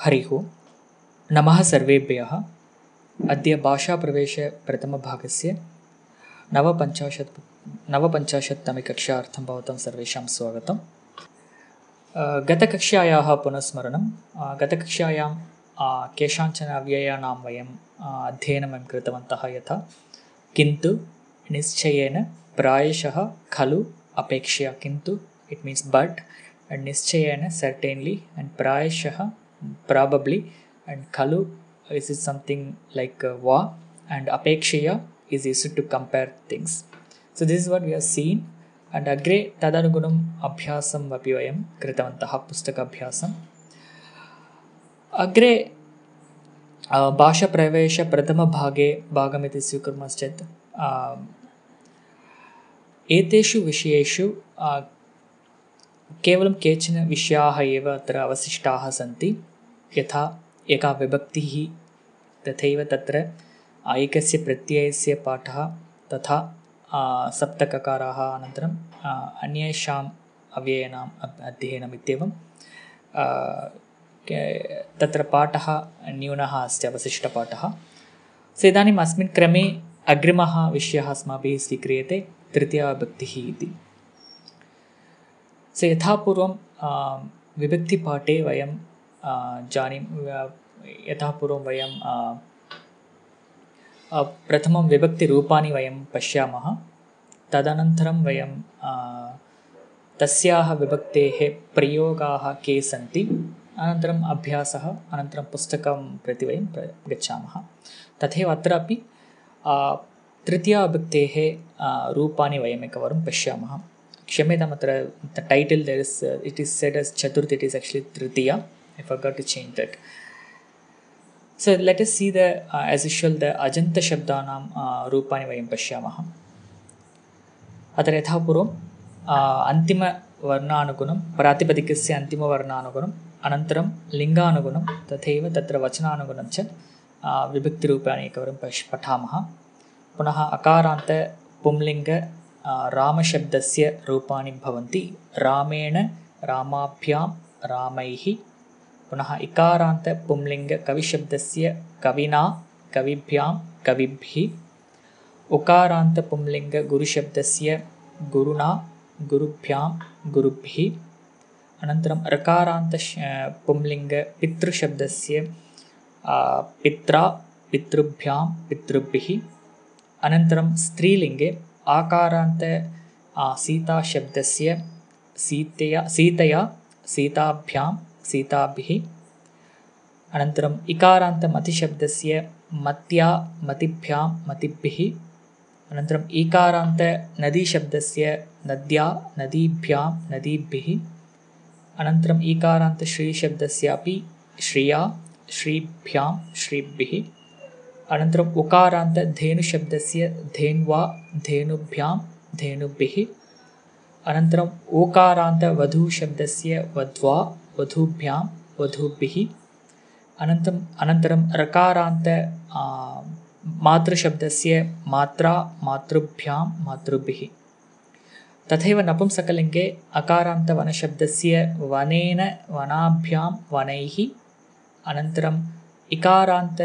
हरिः ओम्। नमः सर्वेभ्यः। अद्य भाषाप्रवेशप्रथमभागस्य नवपञ्चाशत्तमे कक्षार्थं भवतां सर्वेषां स्वागतम्। गतकक्षायाः पुनस्मरणं। गतकक्षायां केषाञ्चन अव्ययानां वयम् अध्ययनं कृतवन्तः, यथा किन्तु, निश्चयेन, प्रायशः, खलु, अपेक्षया। किन्तु it means but, and निश्चयेन certainly, and प्रायशः probably, and खलु is something like va, and apekshaya is used to compare things. So this is what we have seen, and अग्रे तदनुगुणम् अभ्यासम् अपि वयं कृतवन्तः, पुस्तकाभ्यासम्। अग्रे भाषाप्रवेशप्रथमभागे भागमिति स्वीकुर्मश्चेत् एतेषु विषयेषु केवलं केचन विषयाः एव अत्र अवशिष्टाः सन्ति, यथा एका विभक्तिः, तथैव तत्र एकस्य प्रत्ययस्य पाठः, तथा सप्तककाराः, अनन्तरम् अन्येषाम् अव्ययानाम् अध्ययनम् इत्येवं तत्र पाठः न्यूनः अस्ति, अवशिष्टपाठः। सो इदानीम् अस्मिन् क्रमे अग्रिमः विषयः अस्माभिः स्वीक्रियते, तृतीया विभक्तिः इति। सो यथा पूर्वं विभक्तिपाठे वयं यथा पूर्वं वयं प्रथमं विभक्तिरूपाणि वयं पश्यामः, तदनन्तरं वयं तस्याः विभक्तेः प्रयोगाः के सन्ति, अनन्तरम् अभ्यासः, अनन्तरं पुस्तकं प्रति वयं गच्छामः। तथैव अत्रापि तृतीयाविभक्तेः रूपाणि वयम् एकवारं पश्यामः। क्षम्यताम्, अत्र title it is said S चतुर्थी, इट् इस् एक्चुअली तृतीया. I forgot to change that. So let us see as usual the ajanta shabdanam रूपाणि वयं पश्यामः। अत्र यथा पूर्वम् अन्तिमवर्णानुगुणं, प्रातिपदिकस्य अन्तिमवर्णानुगुणम्, अनन्तरं लिङ्गानुगुणं, तथैव तत्र वचनानुगुणं च विभक्तिरूपाणि एकवारं पठामः। पुनः अकारान्त पुंलिङ्ग रामशब्दस्य रूपाणि भवन्ति, रामेण, रामाभ्यां, रामैः। पुनः इकारान्त पुंलिङ्ग कविशब्दस्य कविना, कविभ्यां, कविभिः। उकारान्त पुंलिङ्ग गुरुशब्दस्य गुरुणा, गुरुभ्यां, गुरुभिः। अनन्तरं ऋकारान्त पुंलिङ्ग पितृशब्दस्य पित्रा, पितृभ्यां, पितृभिः। अनन्तरं स्त्रीलिङ्गे आकारान्त सीताशब्दस्य सीतया, सीताभ्यां, सीताभिः। अनन्तरम् इकारान्त मतिशब्दस्य मत्या, मतिभ्यां, मतिभिः। अनन्तरम् ईकारान्त नदीशब्दस्य नद्या, नदीभ्यां, नदीभिः। अनन्तरम् ईकारान्त श्रीशब्दस्यापि श्रिया, श्रीभ्यां, श्रीभिः। अनन्तरम् उकारान्त धेनुशब्दस्य धेन्वा, धेनुभ्यां, धेनुभिः। अनन्तरम् ओकारान्त वधूशब्दस्य वध्वा, वधूभ्यां, वधूभिः। अनन्तरं रकारान्त मातृशब्दस्य मात्रा, मातृभ्यां, मातृभिः। तथैव नपुंसकलिङ्गे अकारान्त वनशब्दस्य वनेन, वनाभ्यां, वनैः। अनन्तरम् इकारान्त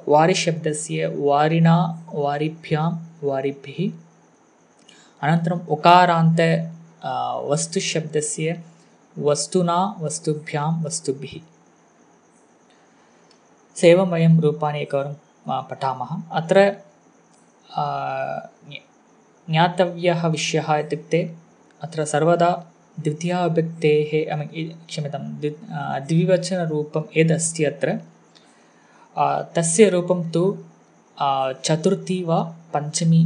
वारिशब्दस्य वारिणा, वारिभ्यां, वारिभिः। अनन्तरम् उकारान्त वस्तुशब्दस्य वस्तुना, वस्तुभ्यां, वस्तुभिः। एवं वयं रूपाणि एकवारं पठामः। अत्र ज्ञातव्यः विषयः इत्युक्ते अत्र सर्वदा द्वितीयाविभक्तेः द्विवचनरूपं यदस्ति अत्र तस्य रूपं तु चतुर्थी वा पञ्चमी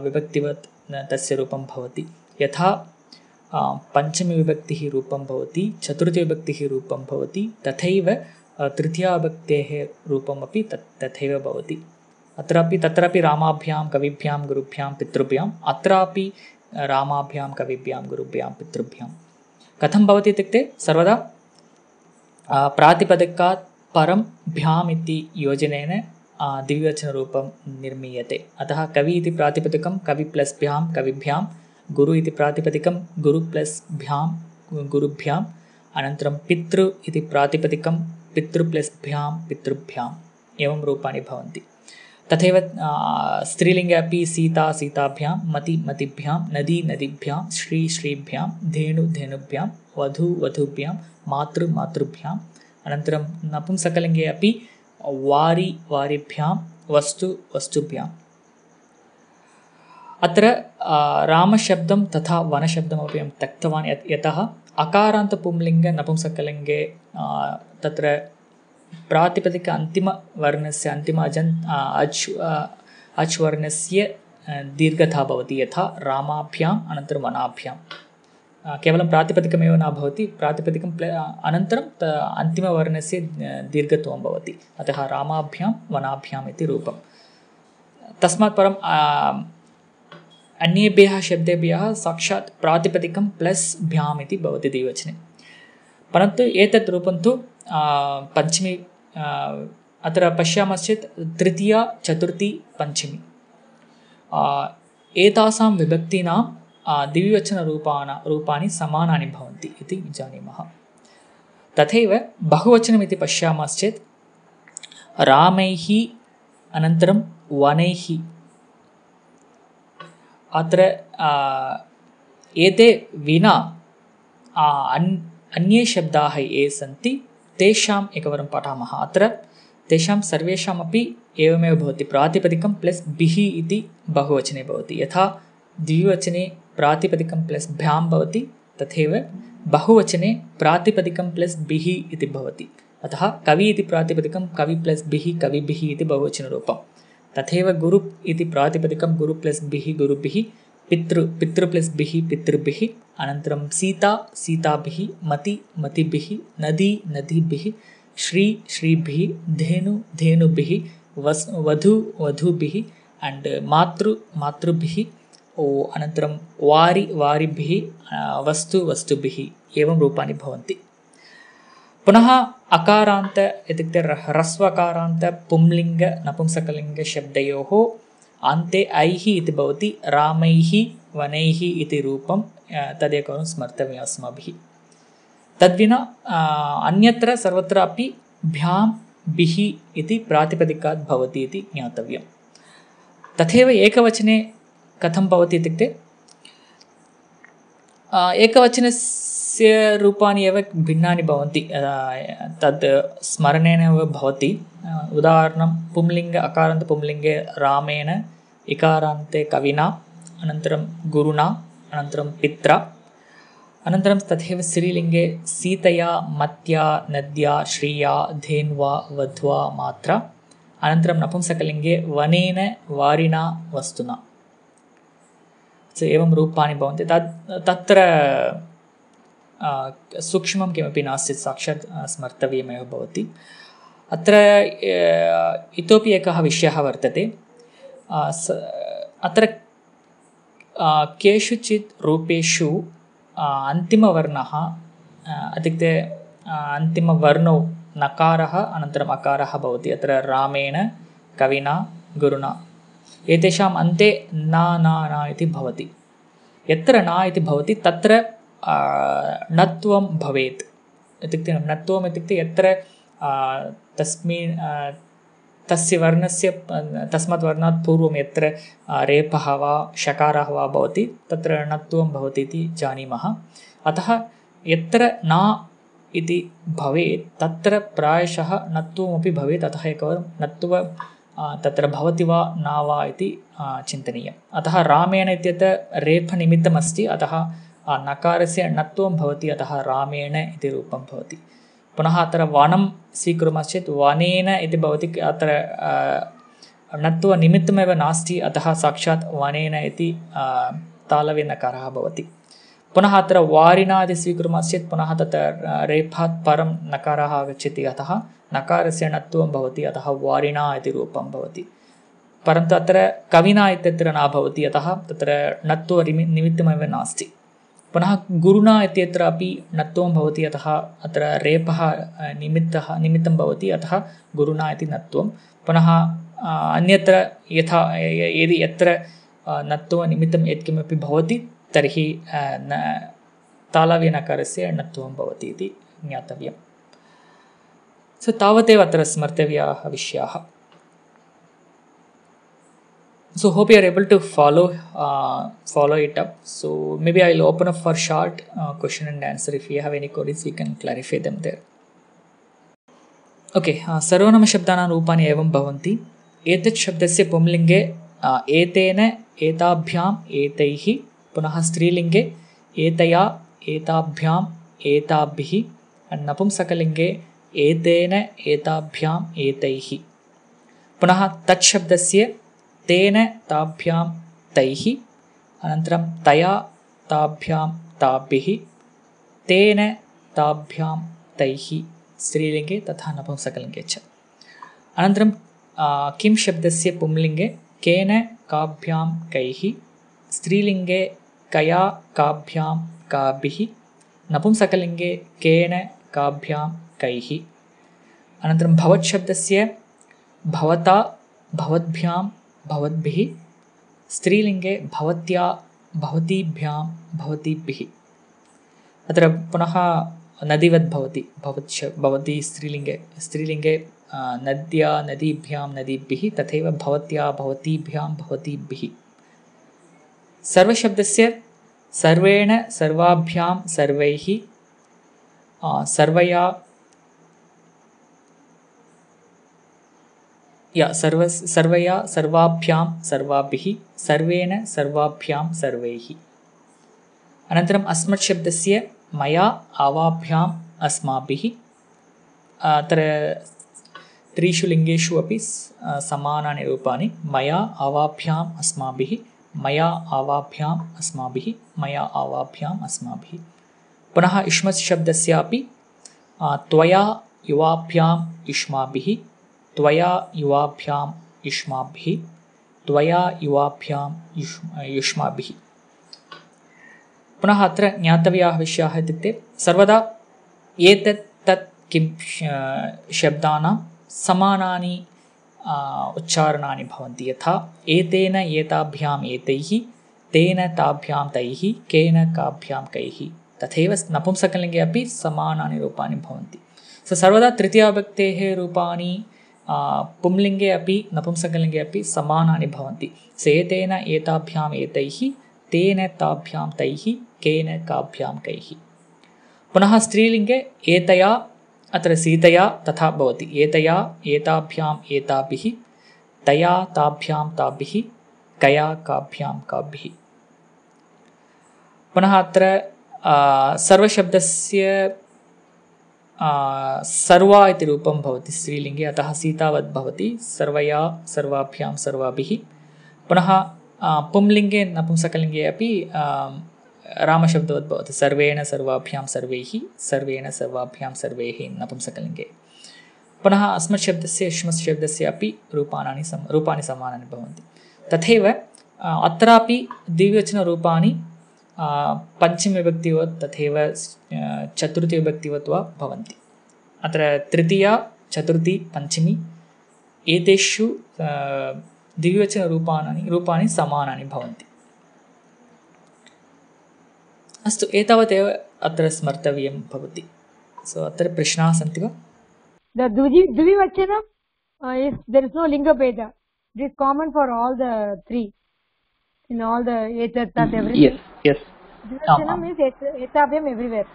विभक्तिवत् तस्य रूपं भवति। यथा पञ्चमी विभक्तिः रूपं भवति, चतुर्थीविभक्तिः रूपं भवति, तथैव तृतीयाविभक्तेः रूपमपि तथैव भवति। तत्रापि रामाभ्यां, कविभ्यां, गुरुभ्यां, पितृभ्याम्, अत्रापि रामाभ्यां, कविभ्यां, गुरुभ्यां, पितृभ्यां। कथं भवति इत्युक्ते सर्वदा प्रातिपदिकात् परं भ्याम् इति योजनेन द्विवचनरूपं निर्मीयते। अतः कवि इति प्रातिपदिकं कवि प्लस् भ्यां, कविभ्यां, गुरु इति प्रातिपदिकं गुरु प्लस् भ्यां, गुरुभ्यां, अनन्तरं पितृ इति प्रातिपदिकं पितृ प्लस् भ्यां पितृभ्याम् एवं रूपाणि भवन्ति। तथैव स्त्रीलिङ्गे अपि सीता सीताभ्यां, मति मतिभ्यां, नदी नदीभ्यां, श्री श्रीभ्यां, धेनु धेनुभ्यां, वधू वधूभ्यां, मातृ मातृभ्याम्। अनन्तरं नपुंसकलिङ्गे अपि वारि वारिभ्यां, वस्तु वस्तुभ्याम्। अत्र रामशब्दं तथा वनशब्दमपि अहं त्यक्तवान् यतः अकारान्तपुंलिङ्गे नपुंसकलिङ्गे तत्र प्रातिपदिक अन्तिमवर्णस्य अन्तिम अच् वर्णस्य दीर्घता भवति यथा रामाभ्याम् अनन्तरं वनाभ्यां। केवलं प्रातिपदिकमेव न भवति, प्रातिपदिकं अनन्तरं अन्तिमवर्णस्य दीर्घत्वं भवति, अतः रामाभ्यां वनाभ्याम् इति रूपं। तस्मात् परं अन्येभ्यः शब्देभ्यः साक्षात् प्रातिपदिकं प्लस् भ्याम् इति भवति द्विवचने, परन्तु एतत् रूपं तु पञ्चमी अत्र पश्यामश्चेत् तृतीया चतुर्थी पञ्चमी एतासां विभक्तीनां द्विवचनरूपाणि समानानि भवन्ति इति जानीमः। तथैव बहुवचनमिति पश्यामश्चेत् रामैः अनन्तरं वनैः, अत्र एते विना अन्ये शब्दाः ये सन्ति तेषाम् एकवारं पठामः। अत्र तेषां सर्वेषामपि एवमेव भवति, प्रातिपदिकं प्लस् बिः इति बहुवचने भवति। यथा द्विवचने प्रातिपदिकं प्लस् भ्यां भवति, तथैव बहुवचने प्रातिपदिकं प्लस् बिः इति भवति। अतः कवि इति प्रातिपदिकं कवि प्लस् बिः कविभिः इति बहुवचनरूपं। तथैव गुरु इति प्रातिपदिकं गुरु प्लस् बिः गुरुभिः, पितृ प्लस् बिः पितृभिः, अनन्तरं सीता सीताभिः, मति मतिभिः, नदी नदीभिः, श्री श्रीभिः, धेनु धेनुभिः, वधू वधूभिः एंड मातृ मातृभिः, अनन्तरं वारि वारिभिः, वस्तु वस्तुभिः एवं रूपाणि भवन्ति। पुनः अकारान्त इत्युक्ते ह्रस्वकारान्त पुंलिङ्ग नपुंसकलिङ्ग शब्दयोः अन्ते ऐः इति भवति। रामैः वनैः इति रूपं तदेकवारं स्मर्तव्यम् अस्माभिः। तद्विना अन्यत्र सर्वत्र अपि भ्यां बिः इति प्रातिपदिकात् भवति इति ज्ञातव्यम्। तथैव एकवचने कथं भवति इत्युक्ते एकवचनस्य रूपाणि एव भिन्नानि भवन्ति, तद् स्मरणेन एव भवति। उदाहरणं पुंलिङ्ग अकारान्त पुंलिङ्गे रामेण, इकारान्ते कविना, अनन्तरं गुरुणा, अनन्तरं पित्रा, अनन्तरं तथैव स्त्रीलिङ्गे सीतया, मत्या, नद्या, श्रिया, धेन्वा, वध्वा, मात्रा, अनन्तरं नपुंसकलिङ्गे वनेन, वारिणा, वस्तुना। एवं रूपाणि भवन्ति। तत्र सूक्ष्मं किमपि नास्ति, साक्षात् स्मर्तव्यमेव भवति। अत्र इतोपि एकः विषयः वर्तते। अत्र केषुचित् रूपेषु अन्तिमवर्णः इत्युक्ते अन्तिमवर्णौ नकारः अनन्तरम् अकारः भवति। अत्र रामेण, कविना, गुरुणा एतेषाम् अन्ते न न न इति भवति। यत्र न इति भवति तत्र णत्वं भवेत्। इत्युक्ते णत्वम् इत्युक्ते यत्र तस्मिन् तस्य वर्णस्य तस्मात् वर्णात् पूर्वं यत्र रेफः वा शकारः वा भवति तत्र णत्वं भवति इति जानीमः। अतः यत्र न इति भवेत् तत्र प्रायशः णत्वमपि भवेत्। अतः एकवारं णत्व तत्र भवति वा न वा इति चिन्तनीयम्। अतः रामेण इत्यत्र रेफनिमित्तमस्ति, अतः नकारस्य णत्वं भवति, अतः रामेण इति रूपं भवति। पुनः अत्र वनं स्वीकुर्मश्चेत् वनेन इति भवति, अत्र णत्वनिमित्तमेव नास्ति, अतः साक्षात् वनेन इति तालव्यनकारः भवति। पुनः अत्र वारिणा इति स्वीकुर्मश्चेत् पुनः तत्र रेफात् परं नकारः आगच्छति, अतः नकारस्य णत्वं भवति, अतः वारिणा इति रूपं भवति। परन्तु अत्र कविना इत्यत्र न भवति, अतः तत्र णत्वनिमित्तमेव नास्ति। पुनः गुरुणा इत्यत्र अपि णत्वं भवति, अतः अत्र रेफः निमित्तं भवति, अतः गुरुणा इति णत्वं। पुनः अन्यत्र यदि यत्र णत्वनिमित्तं यत्किमपि भवति तर्हि तालव्यनकारस्य णत्वं भवति इति ज्ञातव्यम्। सो तावदेव अत्र स्मर्तव्याः विषयाः। So hope you are able to follow it up. So maybe I'll open up for short question and answer. If you have any queries, we can clarify them there. Okay, सर्वनामशब्दानां रूपाणि एवं भवन्ति। एतत् शब्दस्य पुंलिङ्गे एतेन एताभ्याम् एतैः, पुनः स्त्रीलिङ्गे एतया एताभ्याम् एताभिः, नपुंसकलिङ्गे एतेन एताभ्याम् एतैः, पुनः तत् शब्दस्य तेन ताभ्यां तैः, अनन्तरं तया ताभ्यां ताभिः, तेन ताभ्यां तैः स्त्रीलिङ्गे तथा नपुंसकलिङ्गे च। अनन्तरं किं शब्दस्य पुंलिङ्गे केन काभ्यां कैः, स्त्रीलिङ्गे कया काभ्यां काभिः, नपुंसकलिङ्गे केन काभ्यां कैः। अनन्तरं भवत् शब्दस्य भवता भवद्भ्यां भवद्भिः, स्त्रीलिङ्गे भवत्या भवतीभ्यां भवतीभिः। अत्र पुनः नदीवत् भवति, भवती स्त्रीलिङ्गे नद्या नदीभ्यां नदीभिः, तथैव भवत्या भवतीभ्यां भवतीभिः। सर्वशब्दस्य सर्वेण सर्वाभ्यां सर्वैः, सर्वया सर्वया सर्वाभ्यां सर्वाभिः, सर्वेण सर्वाभ्यां सर्वैः। अनन्तरम् अस्मत् शब्दस्य मया आवाभ्याम् अस्माभिः। अत्र त्रिषु लिङ्गेषु अपि समानानि रूपाणि, मया आवाभ्याम् अस्माभिः, मया आवाभ्याम् अस्माभिः, मया आवाभ्याम् अस्माभिः। पुनः युष्मत् शब्दस्यापि त्वया युवाभ्याम् युष्माभिः, त्वया युवाभ्याम् युष्माभिः, त्वया युवाभ्याम् युष्माभिः। पुनः अत्र ज्ञातव्याः विषयाः इत्युक्ते सर्वदा एतत् तत् किं शब्दानां समानानि उच्चारणानि भवन्ति। यथा एतेन एताभ्याम् एतैः, तेन ताभ्यां तैः, केन काभ्यां कैः। तथैव नपुंसकलिङ्गे अपि समानानि रूपाणि भवन्ति। सर्वदा तृतीयाविभक्तेः रूपाणि पुंलिङ्गे अपि नपुंसकलिङ्गे अपि समानानि भवन्ति। एतेन एताभ्याम् एतैः, तेन ताभ्यां तैः, केन काभ्यां कैः। पुनः स्त्रीलिङ्गे एतया, अत्र सीतया तथा भवति। एतया एताभ्याम् एताभिः, तया ताभ्यां ताभिः, कया काभ्यां काभिः। पुनः अत्र सर्वशब्दस्य सर्वा इति रूपं भवति स्त्रीलिङ्गे, अतः सीतावत् भवति। सर्वया सर्वाभ्यां सर्वाभिः। पुनः पुंलिङ्गे नपुंसकलिङ्गे अपि रामशब्दवत् भवति। सर्वेण सर्वाभ्यां सर्वैः, सर्वेण सर्वाभ्यां सर्वैः नपुंसकलिङ्गे। पुनः अस्मत् शब्दस्य युष्मत् शब्दस्य अपि रूपाणि समानानि भवन्ति। तथैव अत्रापि द्विवचनरूपाणि पञ्चमीविभक्तिवत् तथैव चतुर्थीविभक्तिवत् वा भवन्ति। अत्र तृतीया चतुर्थी पञ्चमी एतेषु द्विवचनरूपाणि समानानि भवन्ति। अस्तु, एतावदेव अत्र स्मर्तव्यं भवति। अत्र प्रश्नाः सन्ति वा? The Dvivachanam is there is no linga bheda. It is common for all the three. In all the etat tat everything. Yes. Dvivachanam is etabhyam everywhere.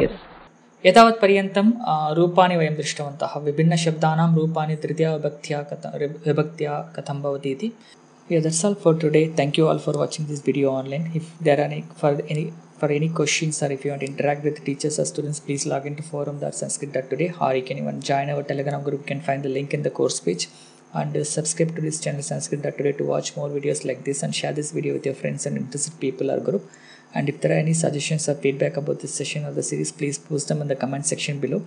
Yes. एतावत् पर्यन्तं रूपाणि वयं दृष्टवन्तः। विभिन्नशब्दानां रूपाणि तृतीयाविभक्त्या कथं भवति इति। Yeah, that's all for today. Thank you all for watching this video online. If there are any questions or if you want to interact with the teachers or students, please log into forum.sanskrit.today, or you can even join our Telegram group. You can find the link in the course page, and subscribe to this channel sanskrit.today to watch more videos like this, and share this video with your friends and interested people or group. And if there are any suggestions or feedback about this session or the series, please post them in the comment section below.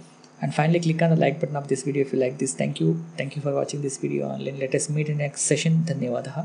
And finally, click on the like button of this video if you like this. Thank you for watching this video online. Let us meet in the next session. Dhanyawadaha.